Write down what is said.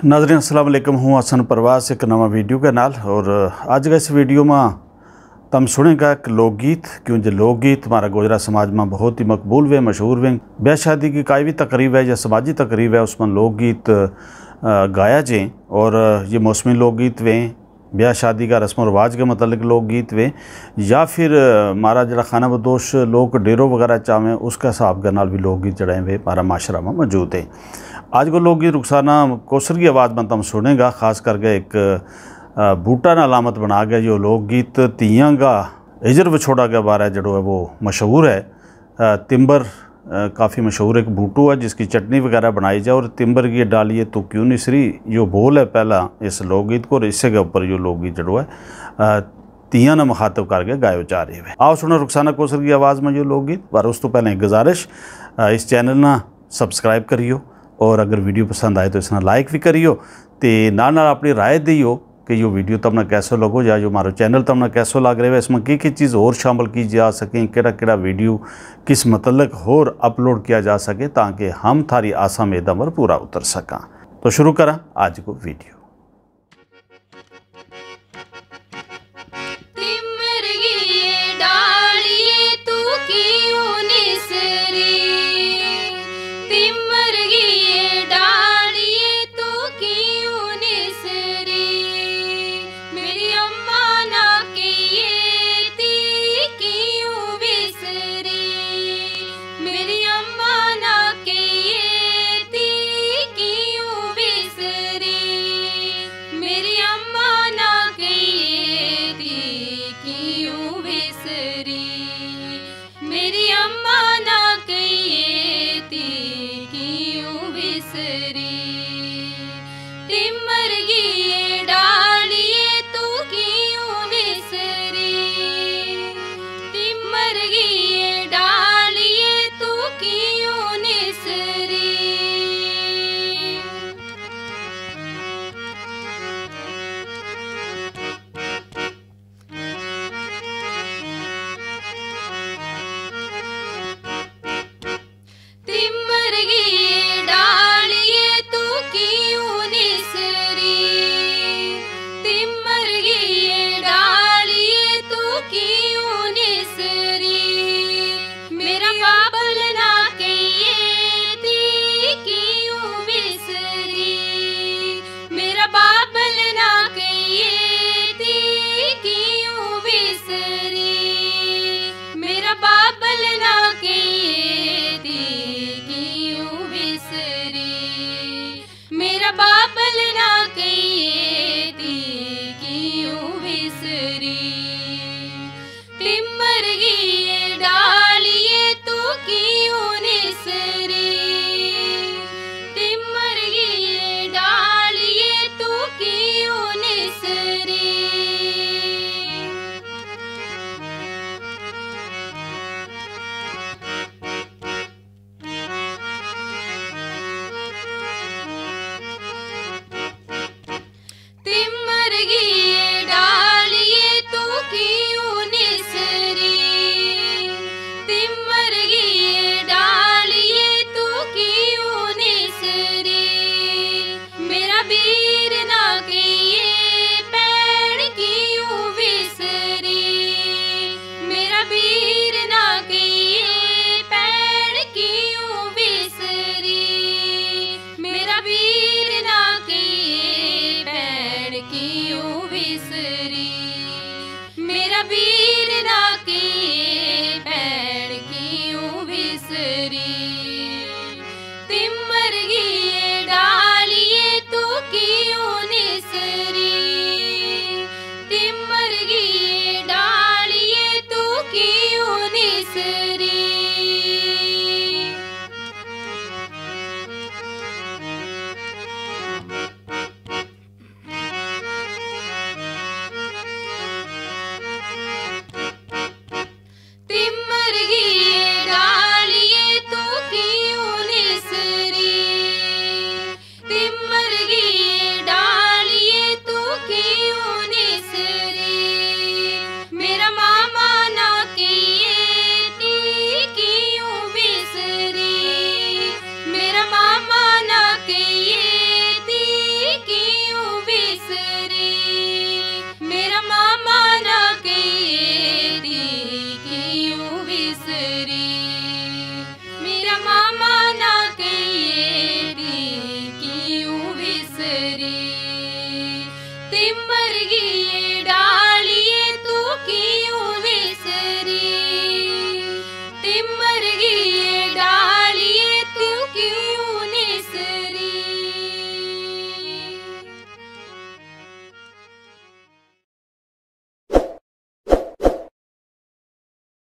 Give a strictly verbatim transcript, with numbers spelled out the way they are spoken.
ناظرین السلام علیکم، ہوں حسن پرواز ایک نواں ویڈیو کے نال۔ اور اج کا اس ویڈیو ما تم سنیں گا ایک لوک گیت، کیوں جے لوک گیت ہمارا گوجرا سماج ما بہت ہی مقبول ویں، مشہور ویں۔ بیاہ شادی کی کائی وی تقریب ہے یا سماجی تقریب ہے، اس ما لوک گیت گایا جیں۔ اور یہ موسمی لوک گیت ویں، بیاہ شادی کا رسم و رواج کے متعلق لوک گیت ویں، یا پھر ہمارا جڑا خانہ بدوش لوک ڈیرو وغیرہ چاویں، اس کا حساب کے نال بھی لوک گیت جڑا ہیں ویں ہمارا معاشرہ ما موجود ہیں۔ اج کو لوک گیت رخسانہ کوسر کی آواز ما تم سنیں گا، خاص کر کے ایک بوٹا نا علامت بنا گیا۔ یوہ لوک گیت تیاں کا ہجر وچھوڑا کے بارے جڑو ہے وہ مشہور ہے۔ تمبر کافی مشہور ایک بوٹو ہے جس کی چٹنی وغیرہ بنائی جائے، اور تمبر کی ڈالیے تو کیوں نسری، یوہ بول ہے پہلا اس لوک گیت کو، اور اسے کے اپر یوہ لوک گیت جڑو ہے تیاں نا مخاطب کر کے گایو جا رہی ہے۔ آؤ سنو رخسانہ کوسر کی آواز ما یوہ لوک گیت، پر اس تو پہلے ایک گزارش، اس چینل نا سبسکرائب کریو، اور اگر ویڈیو پسند آئے تو اس نا لائک وی کریو، تے نال نال اپنی رائے دیو کہ یوہ ویڈیو تم نا کیسو لگو، یا یوہ ہمارو چینل تم نا کیسو لگ رہے ہو، اس ما کی کی چیز ہور شامل کی جا سکیں، کیڑا کیڑا ویڈیو کس متعلق ہور اپلوڈ کیا جا سکے، تاکہ ہم تھاری آساں میداں پر پورا اتر سکاں۔ تو شروع کراں اج کو ویڈیو۔ تمر گیے ڈالیے تو کیوں نسری؟ تمر گیے ڈالیے تو کیوں نسری؟ میری اماں نا کہیے تی کیوں وسری؟ میری اماں نا کہیے تی کیوں وسری؟ میری اماں نا کہیے تی کیوں وسری؟ میری اماں نا کہیے تی کیوں وسری؟ تمر گیے ڈالیے تو کیوں نسری؟ تمر گیے ڈالیے تو کیوں نسری؟ تمر گیے ڈالیے تو کیوں نسری؟ تمر گیے ڈالیے تو کیوں نسری؟ میرا بابل نا کہیے تی کیوں وسری؟ میرا بابل نا کہیے تی کیوں وسری؟ میرا بابل نا کہیے تی کیوں وسری؟ میرا بابل نا کہیے تی کیوں وسری؟ تمر گی